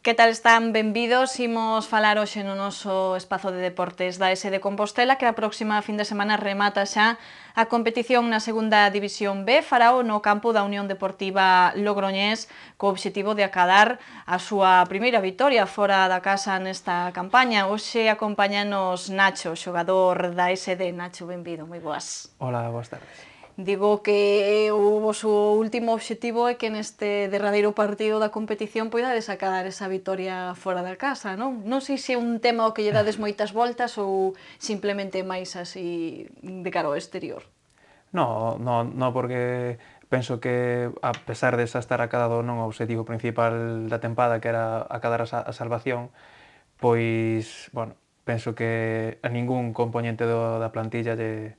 Que tal están? Benvidos. Imos falar hoxe no noso espazo de deportes da S de Compostela, que a próxima fin de semana remata xa a competición na segunda división B. Farao no campo da Unión Deportiva Logroñés, co obxectivo de acadar a súa primeira vitoria fora da casa nesta campaña. Hoxe acompáñanos Nacho, xogador da SD. Nacho, benvido, moi boas. Hola, boas tardes. Digo que o voso último obxectivo é que neste derradeiro partido da competición poidades acadar esa vitoria fora da casa, non? Non sei se é un tema ao que lle dades moitas voltas ou simplemente máis así de cara ao exterior. No, porque penso que, a pesar de xa estar acadado non o obxectivo principal da tempada, que era acadar a salvación, pois, bueno, penso que a ningún componente da plantilla lle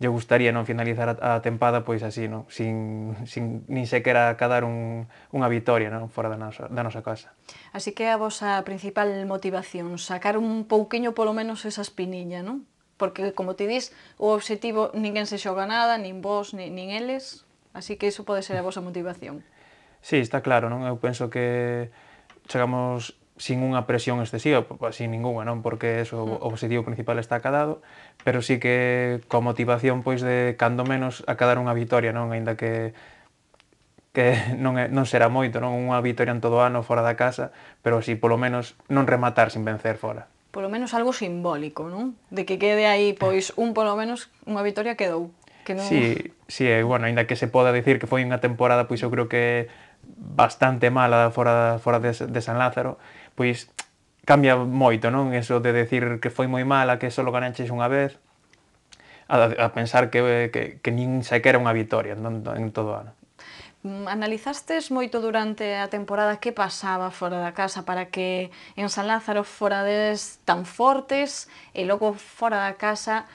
gustaría non finalizar a tempada pois así, non? Sin nin sequera acadar unha vitoria, non? Fora da nosa casa. Así que a vosa principal motivación, sacar un pouquiño polo menos esa espiniña, non? Porque, como ti dis, o obxectivo ninguén se xoga nada, nin vos, nin eles, así que iso pode ser a vosa motivación. Sí, está claro, non? Eu penso que chegamos sin unha presión excesiva, sin ninguna, non? Porque eso, o obxectivo principal está acadado, pero sí que coa motivación pois de cando menos acadar unha vitoria, non? Aínda que non será moito, non? Unha vitoria en todo o ano fora da casa, pero así polo menos non rematar sin vencer fora. Polo menos algo simbólico, non? De que quede aí, pois, polo menos, unha vitoria quedou. Que non... Sí, bueno, aínda que se poda dicir que foi unha temporada, pois eu creo que bastante mala fora de San Lázaro, pois cambia moito, non? Eso de decir que foi moi mala, que só ganaches unha vez, a pensar que nin sequera unha vitoria en todo o ano. Analizastes moito durante a temporada que pasaba fora da casa para que en San Lázaro forades tan fortes e logo fora da casa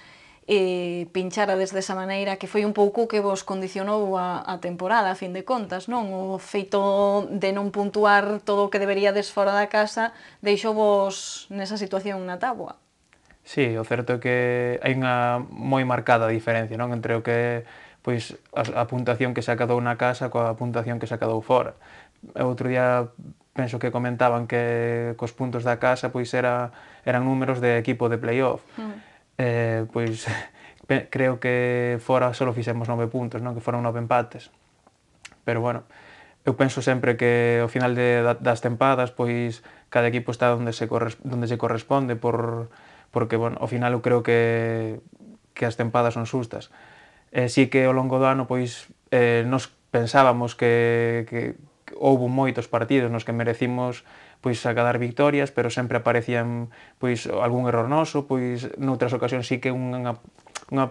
pinchara desa maneira, que foi un pouco que vos condicionou a temporada, a fin de contas, non? O feito de non puntuar todo o que deberíades fora da casa deixou vos nesa situación na táboa. Sí, o certo é que hai unha moi marcada diferencia, non? Entre o que pois a puntuación que se acadou na casa coa puntuación que se acadou fora. Outro día penso que comentaban que cos puntos da casa pois eran números de equipo de playoff. Pois creo que fora só fixemos 9 puntos, non? Que foron 9 empates. Pero bueno, eu penso sempre que ao final das tempadas pois cada equipo está onde se corresponde porque bueno, ao final eu creo que as tempadas son xustas. Si que ao longo do ano pois nos pensábamos que houbo moitos partidos nos que merecimos pois acadar victorias, pero sempre aparecían pois algún error noso, pois noutras ocasións sí que unha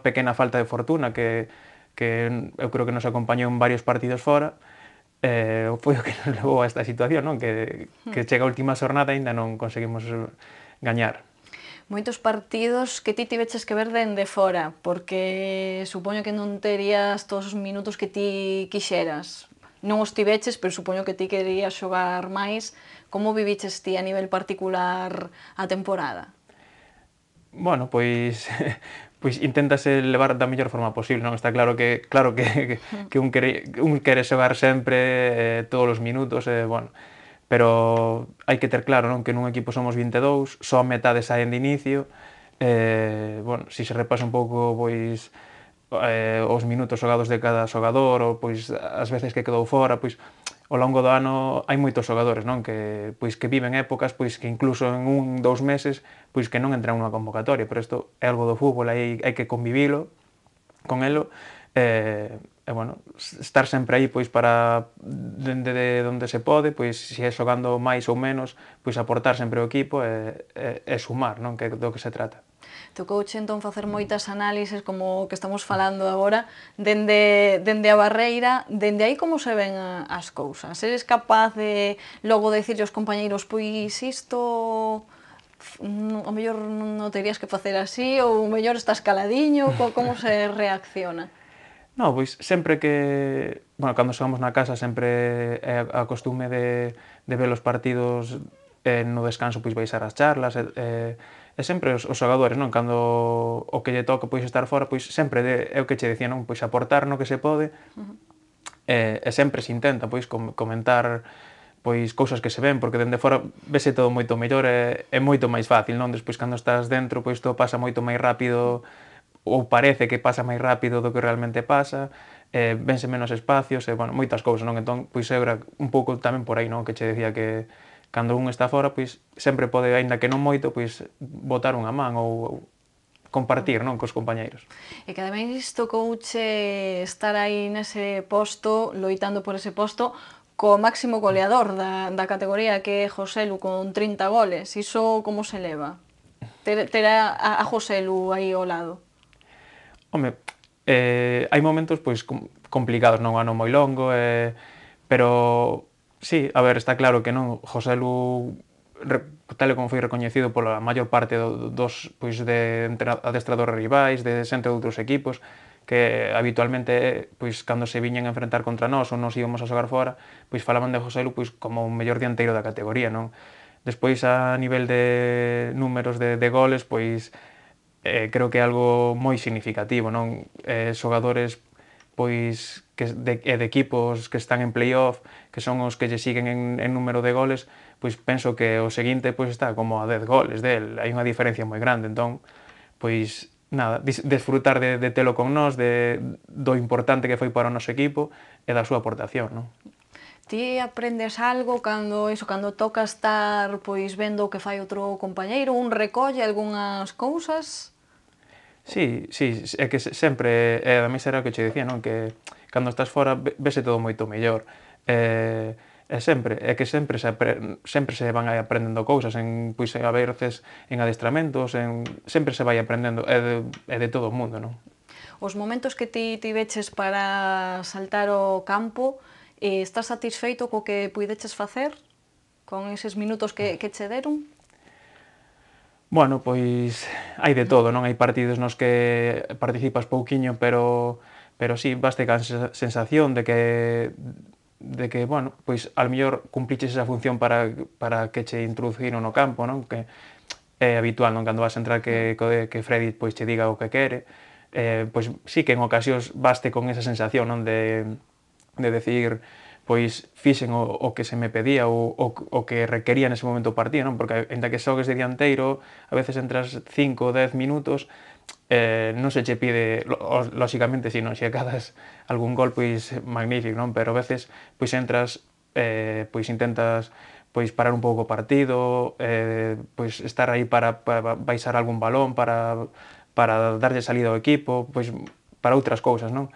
pequena falta de fortuna que eu creo que nos acompañou en varios partidos fora, foi o que nos levou a esta situación, non? Que chega a última xornada e aínda non conseguimos gañar. Moitos partidos que ti tiveches que ver dende fora, porque supoño que non terías todos os minutos que ti quixeras. Non os tiveches, pero supoño que ti querías xogar máis. Como viviches ti a nivel particular a temporada? Bueno, pois inténtase levar da mellor forma posible, non? Está claro que un quere xogar sempre todos os minutos, bueno, pero hai que ter claro, non? Que nun equipo somos 22, só a metade saen de inicio, bueno, se se repasa un pouco, pois, os minutos xogados de cada xogador, ou pois as veces que quedou fora, pois ao longo do ano hai moitos xogadores, non? Que viven épocas pois que incluso en 1-2 meses pois que non entran nunha convocatoria, pero isto é algo do fútbol, hai que convivilo con elo, bueno, estar sempre aí pois para dende onde se pode, pois se é xogando máis ou menos, pois aportar sempre ao equipo e sumar, non? Que do que se trata. Tocouche entón facer moitas análises como o que estamos falando agora dende a barreira, dende aí como se ven as cousas? Eres capaz de logo dicirlle aos compañeiros pois isto o mellor non terías que facer así ou o mellor estás caladiño, como se reacciona? No, pois sempre que, bueno, cando xogamos na casa sempre é a costume de ver os partidos no descanso pois baixar as charlas e sempre os xogadores, non? Cando o que lle toca pois estar fora, pois sempre é o que che decía, non? Pois aportar no que se pode e sempre se intenta pois comentar pois cousas que se ven, porque dende fora vese todo moito mellor e é moito máis fácil, non? Despois cando estás dentro, pois todo pasa moito máis rápido, ou parece que pasa máis rápido do que realmente pasa, vense menos espacios e, bueno, moitas cousas, non? Entón, pois era un pouco tamén por aí, non? Que che decía que cando un está fora, pois sempre pode, aínda que non moito, pois botar unha man ou compartir, non? Cos compañeiros. E que ademais tocouche estar aí nese posto, loitando por ese posto, co máximo goleador da categoría, que é Joselu, con 30 goles. Iso como se leva? Ter a Joselu aí ao lado. Home, hai momentos pois complicados, non? Un ano moi longo, pero sí, a ver, está claro que non, Joselu, tal e como foi recoñecido pola maior parte dos pois de adestradores rivais, de xente de outros equipos, que habitualmente, pois cando se viñan a enfrentar contra nós ou nos íbamos a xogar fora, pois falaban de Joselu pois como o mellor dianteiro da categoría, non? Despois, a nivel de números de goles, pois creo que é algo moi significativo, non? Xogadores pois de equipos que están en playoff, que son os que lle siguen en número de goles, pois penso que o seguinte pois está como a 10 goles del, hai unha diferencia moi grande, entón pois nada, desfrutar de telo con nós, do importante que foi para o noso equipo e da súa aportación, non? Ti aprendes algo cando toca estar pois vendo o que fai outro compañeiro, un recolle algunhas cousas? Sí, sí, é que sempre, ademais era o que che dicía, non? Que cando estás fora vese todo moito mellor. É que sempre se van aprendendo cousas, pois a veces en adestramentos, sempre se vai aprendendo, é de todo o mundo, non? Os momentos que ti tiveches para saltar ao campo, estás satisfeito co que puideches facer? Con eses minutos que che deron? Bueno, pois hai de todo, non? Hai partidos nos que participas pouquiño, pero sí, baste ca sensación de que, bueno, pois ao mellor cumpliches esa función para que che introduciron no campo, non? Que é habitual, non? Cando vas a entrar que Freddy pois che diga o que quere, pois sí que en ocasións baste con esa sensación, non? De decir, pois fixen o que se me pedía ou o que requería nese momento o partido, non? Porque ainda que xogues de dianteiro, a veces entras 5 ou 10 minutos, non se che pide, lóxicamente, se non xe acadas algún gol, pois magnífico, non? Pero a veces, pois entras, pois intentas pois parar un pouco o partido, pois estar aí para baixar algún balón, para darlle salida ao equipo, pois para outras cousas, non?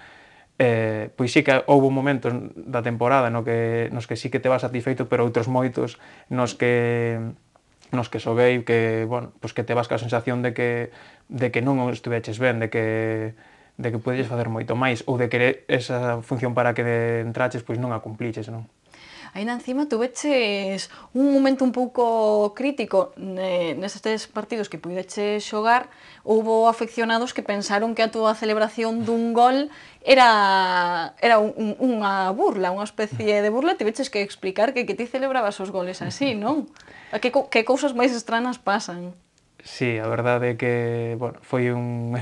Pois sí que houve momentos da temporada nos que sí que te vas satisfeito, pero outros moitos nos que xoguei que, bueno, pois que te vas ca sensación de que non estuveches ben, de que podes facer moito máis, ou de que esa función para que entraches pois non a cumpliches, non? Ainda encima tuveches un momento un pouco crítico nestes partidos que puideches xogar, houbo afeccionados que pensaron que a túa celebración dun gol era unha burla, unha especie de burla, tiveches que explicar que ti celebrabas os goles así, non? Que cousas máis estranas pasan? Sí, a verdade é que, bueno, foi un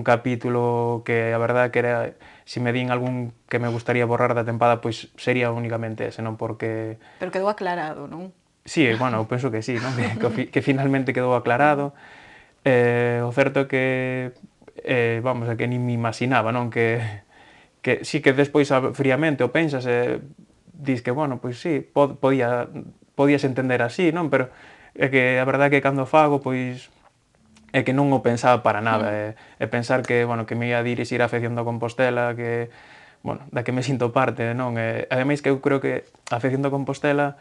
capítulo que a verdade que era, se me din algún que me gustaría borrar da tempada, pois sería únicamente ese, non? Porque Pero quedou aclarado, non? sí, bueno, eu penso que sí, non? Que finalmente quedou aclarado. O certo é que, vamos, é que nin me imaginaba, non? Que sí que despois fríamente o pensas e dis que, bueno, pois sí, podías entender así, non? Pero é que a verdade é que cando fago, pois é que non o pensaba para nada, e pensar que, bueno, que me ia dirixir a afección do Compostela, que, bueno, da que me sinto parte, non? Ademais que eu creo que a afección do Compostela,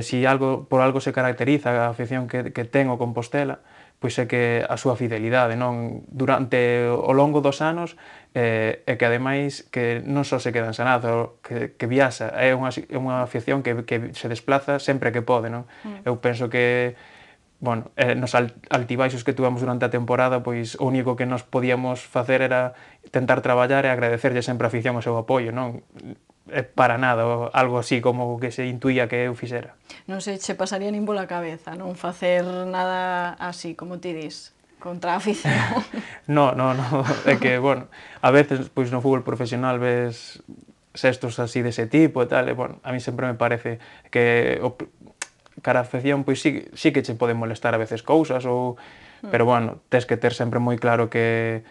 si por algo se caracteriza a afección que ten o Compostela, pois é que a súa fidelidade, non? Durante o longo dos anos, e que ademais que non só se queda en Sanaz, que viaxa, é unha afección que se desplaza sempre que pode, non? Eu penso que, bueno, nos altibaixos que tuvamos durante a temporada, pois o único que nos podíamos facer era tentar traballar e agradecerlle sempre a afición o seu apoio, non? Para nada, algo así como que se intuía que eu fixera. Non se che pasaría nin pola cabeza non facer nada así, como ti dis, contra a afición. No, é que, bueno, a veces pois no fútbol profesional ves xestos así dese tipo e tal, e, bueno, a mí sempre me parece que cara a afección, pois sí que che poden molestar a veces cousas, pero, bueno, tes que ter sempre moi claro que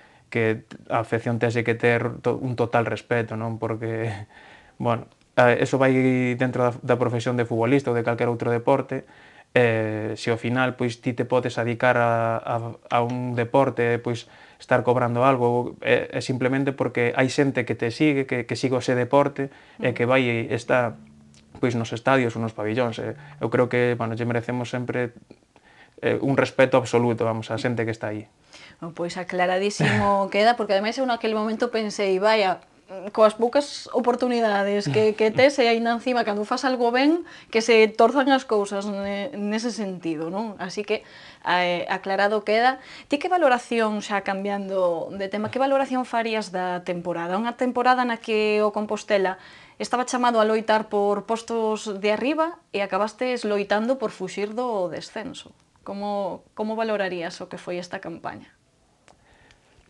a afección tese que ter un total respeto, non? Porque, bueno, eso vai dentro da profesión de futbolista ou de calquer outro deporte, se ao final pois ti te podes adicar a un deporte, pois estar cobrando algo, é simplemente porque hai xente que te sigue, que sigue ese deporte e que vai estar pois nos estadios ou nos pabillóns. Eu creo que, bueno, lle merecemos sempre un respeto absoluto, vamos, a xente que está aí. Pois aclaradísimo queda, porque ademais eu naquele momento pensei, vaya, coas poucas oportunidades que tes e aínda encima cando fas algo ben que se torzan as cousas nese sentido, non? Así que aclarado queda. Ti que valoración, xa cambiando de tema, que valoración farías da temporada? Unha temporada na que o Compostela estaba chamado a loitar por postos de arriba e acabastes loitando por fuxir do descenso. Como valorarías o que foi esta campaña?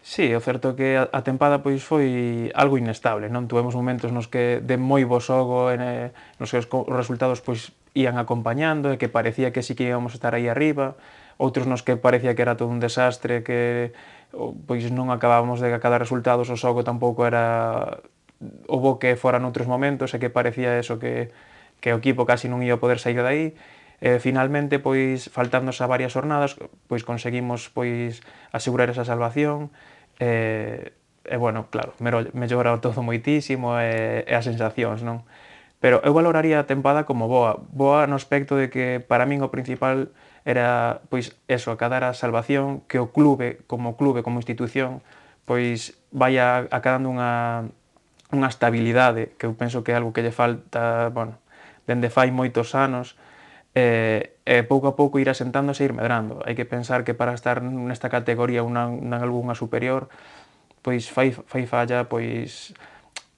Sí, o certo é que a tempada pois foi algo inestable, non? Tuvemos momentos nos que de moi bo xogo, nos que os resultados pois ían acompañando e que parecía que sí que íbamos a estar aí arriba, outros nos que parecía que era todo un desastre, que pois non acabábamos de cada resultados, o xogo tampouco era o bo que fora noutros momentos e que parecía eso que o equipo casi non ia poder sair de aí. Finalmente, pois, faltándose a varias jornadas, pois conseguimos pois asegurar esa salvación, bueno, claro, mellora todo moitísimo e as sensacións, non? Pero eu valoraría a tempada como boa no aspecto de que para min o principal era, pois, eso, acadar a salvación, que o clube, como institución, pois, vaya acadando unha estabilidade, que eu penso que é algo que lle falta, bueno, dende fai moitos anos, pouco a pouco ir asentándose e ir medrando. Hai que pensar que para estar nesta categoría ou nalgúnha superior, pois fai falla pois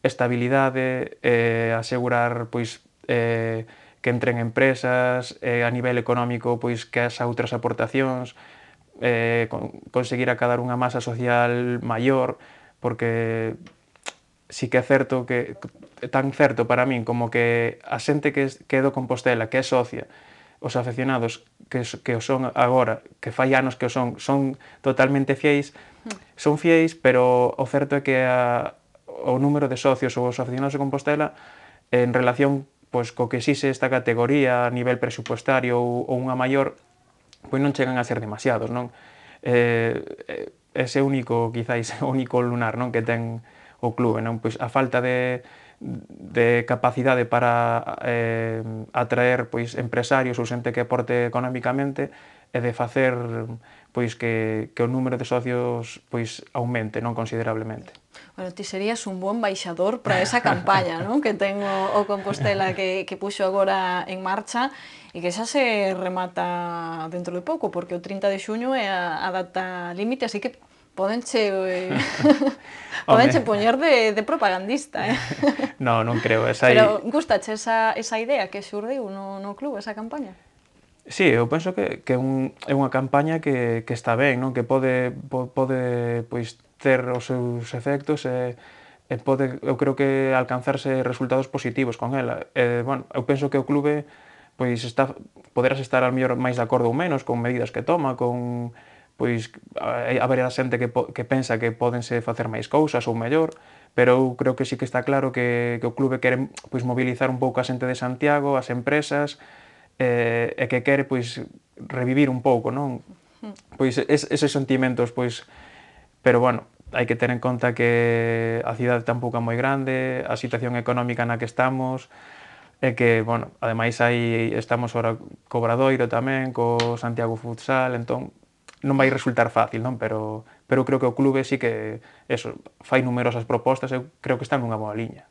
estabilidade, asegurar pois que entren empresas, a nivel económico pois que as outras aportacións, conseguir acadar unha masa social maior, porque sí que é certo que tan certo para min como que a xente que é do Compostela, que é socia, os afeccionados que o son agora, que fai anos que o son totalmente fiéis, son fiéis, pero o certo é que o número de socios ou os afeccionados de Compostela en relación pois co que exixe esta categoría a nivel presupuestario ou unha maior, pois non chegan a ser demasiados, non? Ese único, quizáis, o único lunar, non, que ten o clube, non? Pois a falta de capacidade para atraer pois empresarios ou xente que aporte económicamente e de facer pois que o número de socios pois aumente, non, considerablemente. Bueno, ti serías un bo embaixador para esa campaña, non? Que ten o Compostela que puxo agora en marcha e que xa se remata dentro de pouco, porque o 30 de xuño é a data límite, así que podenche poñer de propagandista, eh? Non creo. Pero gustache esa idea que xurdiu no club, esa campaña? Sí, eu penso que é unha campaña que está ben, non? Que pode pois ter os seus efectos e eu creo que alcanzarse resultados positivos con ela. Bueno, eu penso que o clube pois poderás estar ao mellor máis de acordo ou menos con medidas que toma, con pois haberá xente que pensa que pódense facer máis cousas ou mellor, pero eu creo que sí que está claro que o clube quere pois mobilizar un pouco a xente de Santiago, as empresas, e que quere pois revivir un pouco, non? Pois eses sentimentos, pois, pero bueno, hai que ter en conta que a cidade tampouco é moi grande, a situación económica na que estamos, e que, bueno, ademais estamos ahora co Obradoiro tamén, co Santiago Futsal, entón non vai resultar fácil, non? Pero eu creo que o clube sí que, eso, fai numerosas propostas, eu creo que está nunha boa liña.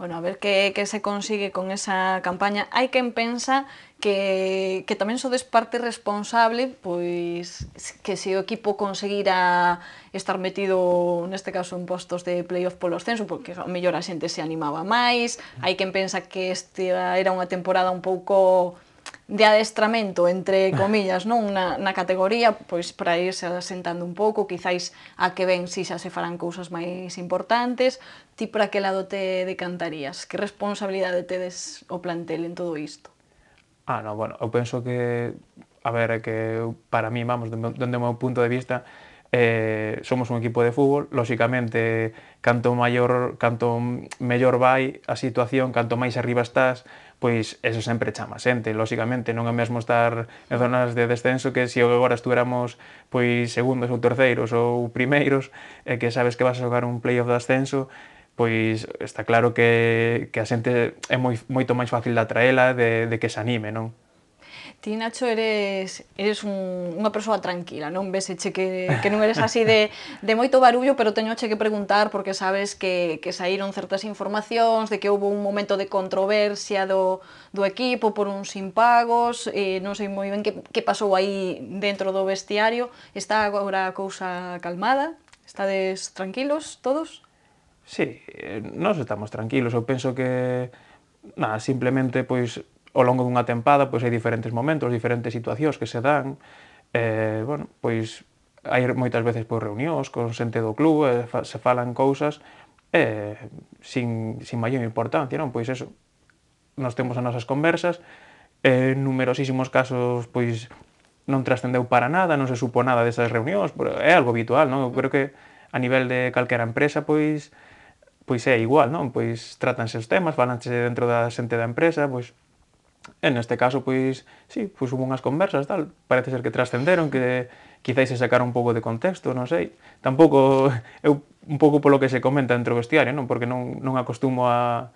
Bueno, a ver que se consigue con esa campaña. Hai quen pensa que tamén sodes parte responsable, pois que se o equipo conseguira estar metido, neste caso, en postos de playoff polo ascenso, porque a mellor a xente se animaba máis. Hai quen pensa que esta era unha temporada un pouco de adestramento, entre comillas, non na categoría, pois para irse asentando un pouco, quizáis a que ven si xa se farán cousas máis importantes. Ti para que lado te decantarías? Que responsabilidade tedes o plantel en todo isto? No, bueno, eu penso que, a ver, é que para mí, vamos, dende o meu punto de vista, somos un equipo de fútbol, lóxicamente, canto mellor vai a situación, canto máis arriba estás, pois eso sempre chama xente, lóxicamente, non é mesmo estar en zonas de descenso que se agora estuéramos pois segundos ou terceiros ou primeiros, e que sabes que vas a xogar un playoff de ascenso, pois está claro que a xente é moito máis fácil de atraela, de que se anime, non? Ti, Nacho, eres unha persoa tranquila, non? Véseche que non eres así de moito barullo, pero teñoche que preguntar porque sabes que saíron certas informacións de que houve un momento de controversia do equipo por uns impagos, non sei moi ben que pasou aí dentro do vestiario. Está agora a cousa calmada? Estades tranquilos todos? Sí, nós estamos tranquilos, eu penso que simplemente pois ao longo dunha tempada pois hai diferentes momentos, diferentes situacións que se dan, bueno, pois hai moitas veces pois reunións con xente do club, se falan cousas sin maior importancia, non? Pois eso, nós temos as nosas conversas, en numerosísimos casos pois non trascendeu para nada, non se supo nada desas reunións, pero é algo habitual, non? Eu creo que a nivel de calquera empresa pois é igual, non? Pois trátanse os temas, falanse dentro da xente da empresa, pois en este caso, pois, sí, pois hubo unhas conversas, tal, parece ser que trascenderon, que quizáis se sacaron un pouco de contexto, non sei. Tampouco, eu un pouco polo que se comenta dentro do vestiario, non? Porque non acostumo a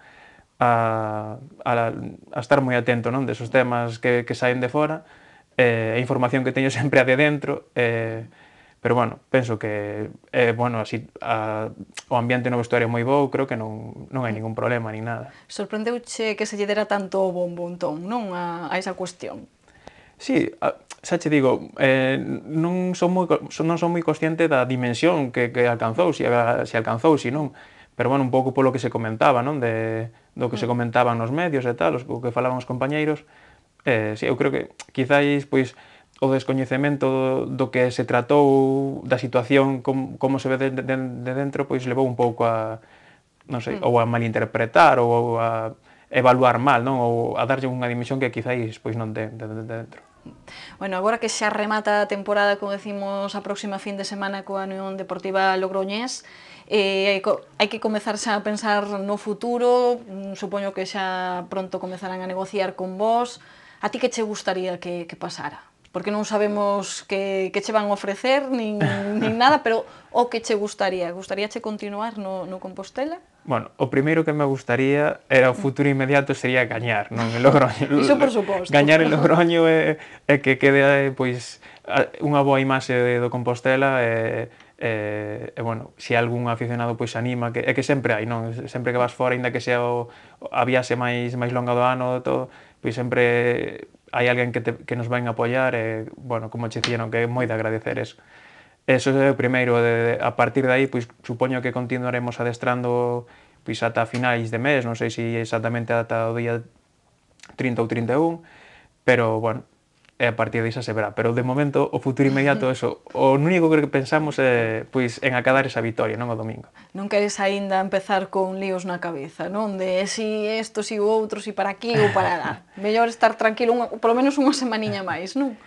estar moi atento, non? Desos temas que saen de fora, a información que teño sempre a de dentro, pero bueno, penso que bueno, así, o ambiente no vestuario é moi bo, creo que non hai ningún problema nin nada. Sorprendeuche que se lle dera tanto bombo, entón, non, a esa cuestión? Sí, xa che digo, non son moi consciente da dimensión que alcanzou, se alcanzou, se non, pero bueno, un pouco polo que se comentaba, non, do que se comentaban nos medios e tal, o que falaban os compañeiros, sí, eu creo que quizáis, pois, o descoñecemento do que se tratou da situación, como se ve de dentro, pois levou un pouco a, non sei, ou a malinterpretar ou a evaluar mal, non? Ou a darlle unha dimensión que quizáis pois non ten de dentro. Bueno, agora que xa remata a temporada, como decimos, a próxima fin de semana coa Unión Deportiva Logroñés, hai que comezar xa a pensar no futuro, supoño que xa pronto comezarán a negociar con vos. A ti que che gustaría que pasara? Porque non sabemos que che van ofrecer, nin nada, pero o que che gustaría? Gustaríache continuar no Compostela? Bueno, o primeiro que me gustaría era o futuro inmediato sería gañar, non? En Logroño. Iso por suposto. Gañar en Logroño e que quede, pois, unha boa imaxe do Compostela e bueno, se algún aficionado pois anima, que sempre hai, non? Sempre que vas fora, aínda que sea a viaxe máis longa do ano, todo, pois sempre hai alguén que nos vai a apoiar e, bueno, como che dicía, non, que é moi de agradecer eso. Eso é o primeiro, a partir de aí, pois, supoño que continuaremos adestrando pois ata finais de mes, non sei se exactamente ata o día 30 ou 31, pero, bueno, a partir disso se verá. Pero, de momento, o futuro inmediato, eso, o único que pensamos é, pois, en acadar esa vitoria, non o domingo. Non queres aínda empezar con líos na cabeza, non? De si isto, si o outro, si para aquí ou para lá. Mellor estar tranquilo, polo menos unha semaniña máis, non?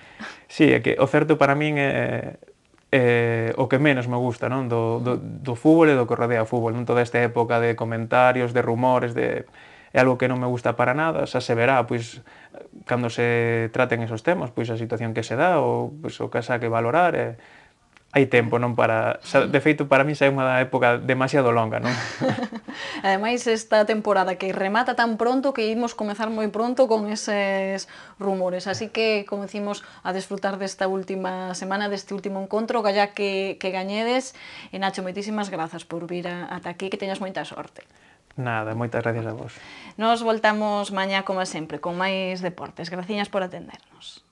Sí, é que o certo para min é o que menos me gusta, non? Do fútbol e do que rodea o fútbol, non? Toda esta época de comentarios, de rumores, é algo que non me gusta para nada, xa se verá, pois, cando se traten esos temas, pois a situación que se dá, ou pois, o que xa que valorar, hai tempo, non? De feito, para mí xa é unha época demasiado longa, non? Ademais, esta temporada que remata tan pronto que imos comezar moi pronto con eses rumores. Así que, como decimos, a desfrutar desta última semana, deste último encontro, galla que gañedes. E Nacho, moitísimas grazas por vir ata aquí, que teñas moita sorte. Nada, moitas gracias a vos. Nos voltamos mañá, como sempre, con máis deportes. Graciñas por atendernos.